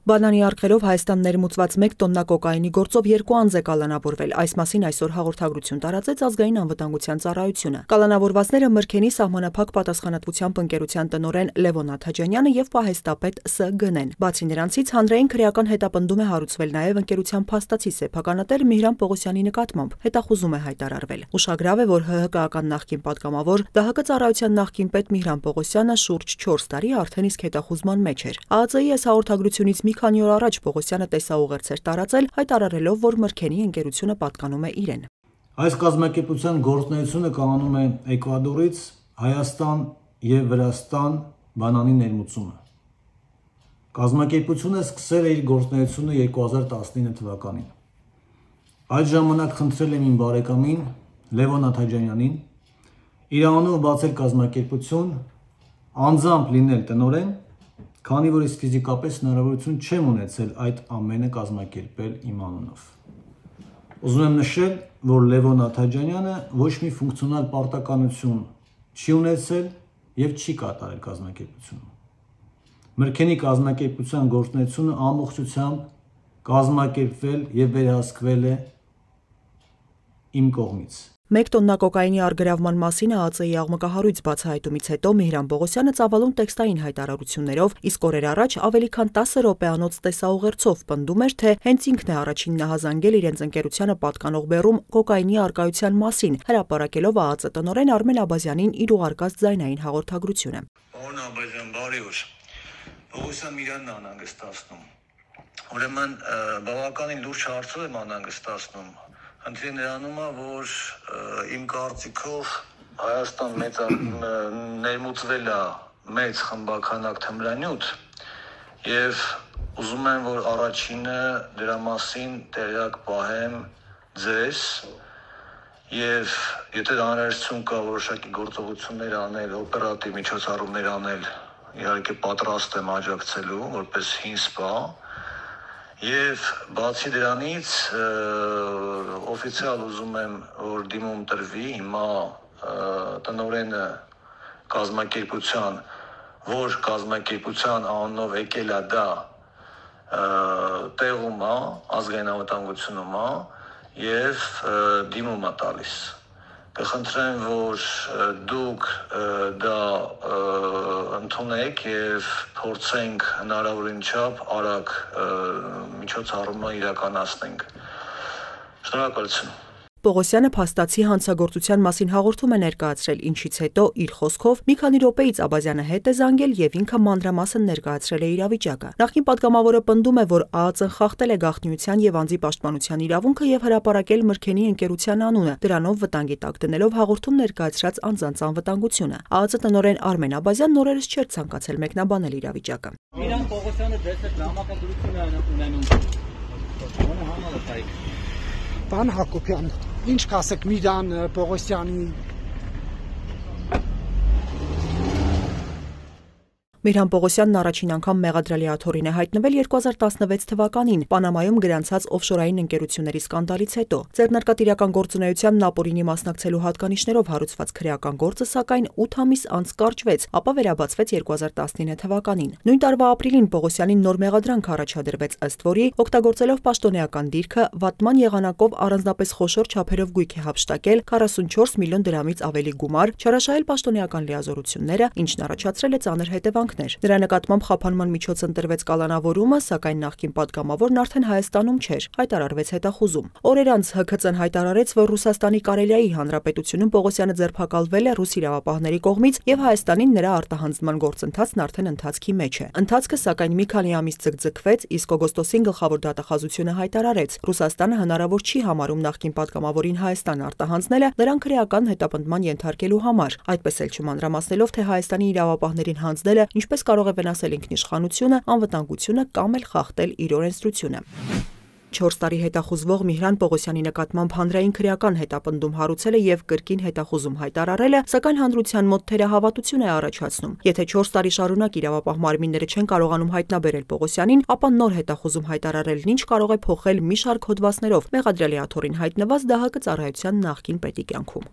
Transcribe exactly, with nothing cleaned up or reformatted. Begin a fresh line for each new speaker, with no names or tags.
Բանանի արգելով Հայաստան ներմուծված մեկ տոննա կոկաինի գործով երկու անձ է կալանավորվել։ Այս մասին այսօր հաղորդագրություն տարածեց Ազգային անվտանգության ծառայությունը։ Կալանավորվածները Մրգենի սահմանափակ պատասխանատվությամբ ընկերության տնօրեն Լևոն Աթաջանյանը եւ պահեստապետ Ս. Գնեն։ Բացի նրանցից հանրային քրեական հետապնդում է հարուցվել նաեւ ընկերության փաստացի սեփականատեր Միհրան Պողոսյանի նկատմամբ։ Հետախուզում է հայտարարվել։ Ուշագրավ է, որ ՀՀԿ նախկին պատգամավոր ԴՀԿ ծառայության նախկին պետ Միհրան Պողոսյանը շուրջ չորս տարի արդեն իսկ հետախուզման մեջ էր։ ԱԱԾ-ի հաղորդագրությունից մի քանի օր առաջ Պողոսյանը տեսաուղերձ էր տարածել, հայտարարելով, որ Մրգենի ընկերությունը պատկանում է իրեն։
Այս կազմակերպության գործունեությունը կայանում է Էկվադորից Հայաստան եւ Վրաստան բանանի ներմուծումը։ Կազմակերպությունը սկսել է իր գործունեությունը երկու հազար տասնինը թվականին։ Այդ ժամանակ խնդրել եմ իմ բարեկամին Լևոն Աթաջանյանին իր անունով բացել կազմակերպություն, անձամբ լինել տնօրեն, քանի որ իսկ ֆիզիկապես հնարավորություն չեմ ունեցել այդ ամենը կազմակերպել իմ անունով։ Ուզում եմ նշել, որ Լևոն Աթաջանյանը ոչ մի ֆունկցիոնալ պարտականություն չի ունեցել եւ չի կատարել կազմակերպությունում։ Մրգենի կազմակերպության գործունեությունը ամբողջությամբ կազմակերպվել եւ վերահսկվել է իմ կողմից։
Մեկ տոննա կոկաինի արգրավման մասին ԱԱԾ-ի աղմկահարույց բացահայտումից հետո Միհրան Պողոսյանը ծավալուն տեքստային հայտարարություններով, իսկ օրեր առաջ ավելի քան տասը րոպեանոց տեսաուղերձով պնդում էր, թե հենց ինքն է առաջինն նահազանգել իրենց ընկերությանը պատկանող բեռում կոկաինի արկայության մասին, հրապարակելով ԱԱԾ տնօրեն Արմեն Աբազյանին իր ուղարկած ձայնային հաղորդագրությունը։
Պարոն Աբազյան, բարի օր։ Պողոսյան Միրանն է անհանգստացնում։ Ուրեմն բավականին լուրջ հարցով եմ անհանգստացնում։ Խնդիրը նրանում է, որ իմ կարծիքով Հայաստան մեծ ներմուծվել է մեծ խմբականակ թմրանյութ եւ ուզում եմ, որ առաջինը դրա մասին տեղյակ պահեմ ձեզ եւ եթե հանրայնություն կա որոշակի գործողություններ անել, օպերատիվ միջոցառումներ անել, իհարկե պատրաստ եմ աջակցելու որպես հին սպա։ Եվ բացի դրանից օֆիցիալ ուզում եմ, որ դիմում տրվի հիմա տնօրենը կազմակերպության, որ կազմակերպության անունով եկել է դա տեղում է, ազգային անվտանգությունում է եւ դիմում է տալիս։ Կխնդրեմ, որ դուք դա ընդունեք եւ փորձենք հնարավորին չափ արագ միջոցառումը իրականացնենք։ Շնորհակալություն։
Պողոսյանը փաստացի հանցագործության մասին հաղորդում է ներկայացրել, ինչից հետո իր խոսքով մի քանի րոպեից Աբազյանը հետ է զանգել եւ ինքը մանրամասն ներկայացրել է իրավիճակը։ Նախկին պատգամավորը պնդում է, որ ԱԱԾ-ն խախտել է գաղտնիության եւ անձի պաշտպանության իրավունքը եւ հրապարակել Մրգենի ընկերության անունը, դրանով վտանգի տակ դնելով հաղորդում ներկայացրած անձանց անվտանգությունը։ ԱԱԾ տնօրեն Արմեն Աբազյանն օրերս չէր ցանկացել մեկնաբանել իրավիճակը։
Միհրան Պողոսյանը դες է դրամատուրգություն է ունենում։ Ո՞ն համալսարանի
Պարոն Հակոբյան, ինչ կասեք Միհրան Պողոսյանի։
Միհրան Պողոսյանն առաջին անգամ մեղադրելի աթոռին է հայտնվել երկու հազար տասնվեց թվականին Պանամայում գրանցած օֆշորային ընկերությունների սկանդալից հետո։ Ձեռնարկատիրական գործունեությանն ապօրինի մասնակցելու հատկանիշներով հարուցված քրեական գործը սակայն ութ ամիս անց կարճվեց, ապա վերաբացվեց երկու հազար տասնինը թվականին։ Նույն տարվա ապրիլին Պողոսյանին նոր մեղադրանք առաջադրվեց, ըստ որի օգտագործելով պաշտոնեական դիրքը վատման եղանակով առանձնապես խոշոր չափերով գույք է հափշտակել քառասունչորս միլիոն դրամից ավելի գումար, չարաշահել պաշտոնեական լիազորությունները, ինչն առաջացրել է ծանր հետևանքներ։ Նրա նկատմամբ խափանման միջոց ընտրվեց կալանավորումը, սակայն նախկին պատգամավորն արդեն Հայաստանում չէր, հայտարարվեց հետախուզում։ Օրեր անց ՀՔԾ-ն հայտարարեց, որ Ռուսաստանի Կարելիայի Հանրապետությունում Պողոսյանը ձերբակալվել է ռուս իրավապահների կողմից եւ Հայաստանին նրա արտահանձնման գործընթացն արդեն ընթացքի մեջ է։ Ընթացքը սակայն մի քանի ամիս ձգձգվեց, իսկ օգոստոսին գլխավոր դատախազությունը հայտարարեց, Ռուսաստանը հնարավոր չի համարում նախկին պատգամավորին Հայաստան արտահանձնելը նրան քրեական հետապնդման ենթարկելու համար, այդպես էլ չմանրամասնելով, թե Հայաստանի իրավապահներին հանձնելը ինչպես կարող է վնասել ինքնիշխանությունը, անվտանգությունը կամ էլ խախտել իր օրենսդրությունը։ չորս տարի հետախուզվող Միհրան Պողոսյանի նկատմամբ հանրային քրեական հետապնդում հարուցելը եւ կրկին հետախուզում հայտարարելը, սակայն հանրության մոտ թերահավատություն է առաջացնում։ Եթե չորս տարի շարունակ իրավապահ մարմինները չեն կարողանում հայտնաբերել Պողոսյանին, ապա նոր հետախուզում հայտարարելն ինչ կարող է փոխել մի շարք հոդվածներով մեղադրելի աթոռին հայտնված ԴՀԿ ծառայության նախկին պետի կյանքում։